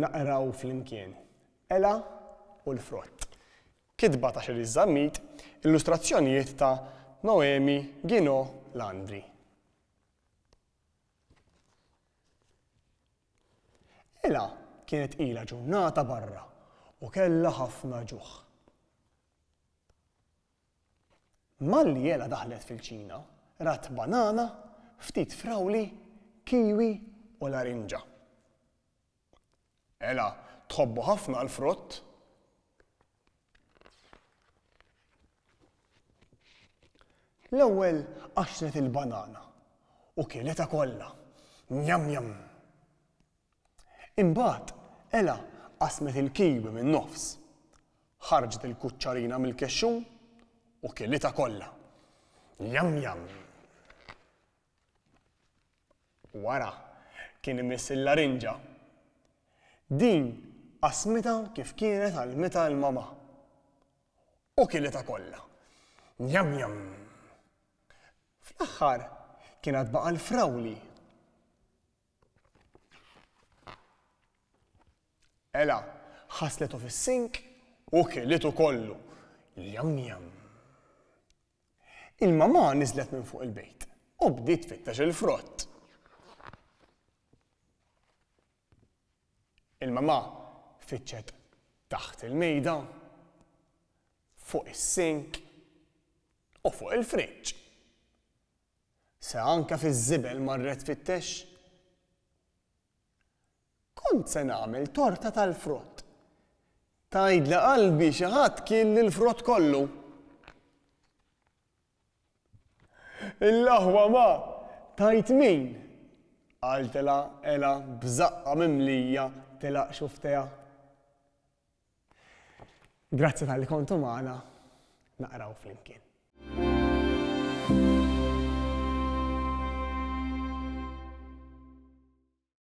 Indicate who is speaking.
Speaker 1: naqraw flimkien Ela u l-Frott. Kitba ta' Cherise Zammit, illustrazzjonijiet ta' Noemi Guinot Landry. Ela kienet ilha ġurnata barra u kellha ħafna ġuħ. Malli Ela daħlet fil-kċina, rat banana, ftit frawli, kiwi u larinġa. Ela tħobbu ħafna l-frott. L-ewwel qaxxret il-banana u kilitha kollha. Njam njam! Imbagħad Ela qasmet il-kiwi min-nofs. Ħarġet il-kuċċarina mill-kexxun u kilitha kollha. Njam njam! Wara, kien imiss il-larinġa. Din qasmitha kif kienet għallmitha l-mamà. U kilitha kollha. Njam njam! Fl-aħħar kien għad baqa' l-frawli. Ela ħasletu fis-sink u kilitu kollu. Jam jam. Il-mamà niżlet minn fuq il-bejt u bdiet tfittex il-frott. Il-mamà fittxet taħt il-mejda, fuq is-sink u fuq il-friġġ. Se anke fiż-żibel marret tfittex. Kont se nagħmel torta tal-frott. Tgħidli qalbi xi ħadd kielli l-frott kollu. Il-aħwa ma, tgħid min? Qaltilha Ela b'żaqqha mimlija tilgħaq xufftejha. Grazzi talli kontu magħna naqraw flimkien.